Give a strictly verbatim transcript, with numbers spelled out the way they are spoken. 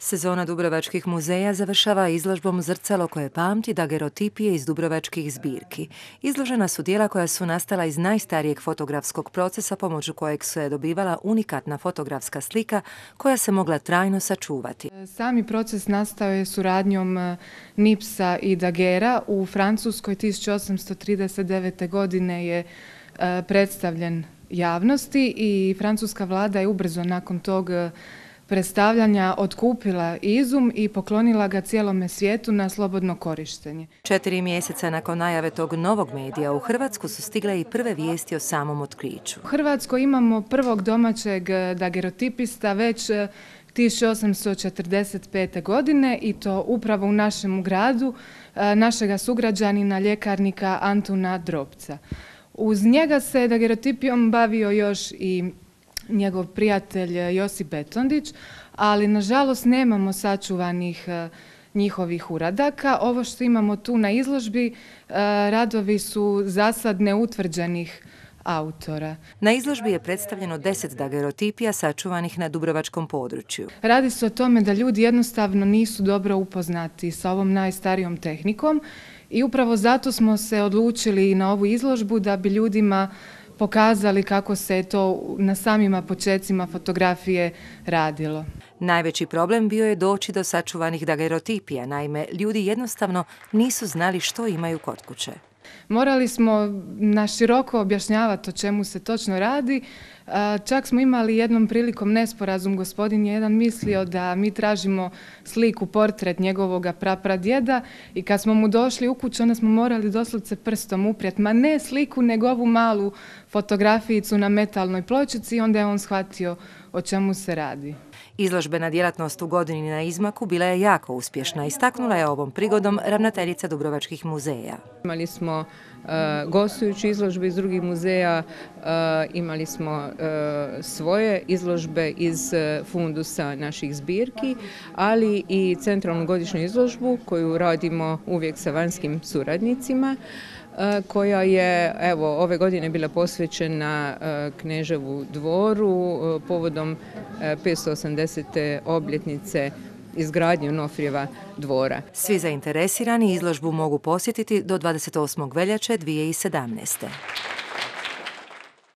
Sezona dubrovačkih muzeja završava izložbom Zrcalo koje pamti dagerotipije iz dubrovačkih zbirki. Izložena su djela koja su nastala iz najstarijeg fotografskog procesa pomoću kojeg se je dobivala unikatna fotografska slika koja se mogla trajno sačuvati. Sami proces nastao je suradnjom Nipsa i Daguerrea. U Francuskoj tisuću osamsto trideset devete. godine je predstavljen javnosti i francuska vlada je ubrzo nakon tog predstavljanja otkupila izum i poklonila ga cijelome svijetu na slobodno korištenje. Četiri mjeseca nakon najave tog novog medija u Hrvatsku su stigle i prve vijesti o samom otkriću. U Hrvatskoj imamo prvog domaćeg dagerotipista već tisuću osamsto četrdeset pete. godine i to upravo u našem gradu, našega sugrađanina ljekarnika Antuna Drobca. Uz njega se dagerotipijom bavio još i njegov prijatelj Josip Betondić, ali nažalost nemamo sačuvanih njihovih uradaka. Ovo što imamo tu na izložbi, radovi su zasad neutvrđenih autora. Na izložbi je predstavljeno deset dagerotipija sačuvanih na dubrovačkom području. Radi se o tome da ljudi jednostavno nisu dobro upoznati sa ovom najstarijom tehnikom i upravo zato smo se odlučili na ovu izložbu da bi ljudima pokazali kako se to na samima počecima fotografije radilo. Najveći problem bio je doći do sačuvanih dagerotipija, naime ljudi jednostavno nisu znali što imaju kod kuće. Morali smo na široko objašnjavati o čemu se točno radi. Čak smo imali jednom prilikom nesporazum, gospodin je jedan mislio da mi tražimo sliku, portret njegovog prapradjeda i kad smo mu došli u kuću onda smo morali doslovce prstom uprijeti, ma ne sliku nego ovu malu fotografijicu na metalnoj pločici i onda je on shvatio o čemu se radi. Izložbena djelatnost u godini na izmaku bila je jako uspješna, istaknula je ovom prigodom ravnateljica Dubrovačkih muzeja. Imali smo uh, gostujući izložbe iz drugih muzeja, uh, imali smo uh, svoje izložbe iz uh, fundusa naših zbirki, ali i centralnu godišnju izložbu koju radimo uvijek sa vanjskim suradnicima, koja je evo ove godine bila posvećena Kneževu dvoru povodom petsto osamdesete obljetnice izgradnje Onofrijeva dvora. Svi zainteresirani izložbu mogu posjetiti do dvadeset osmog veljače dvije tisuće sedamnaeste.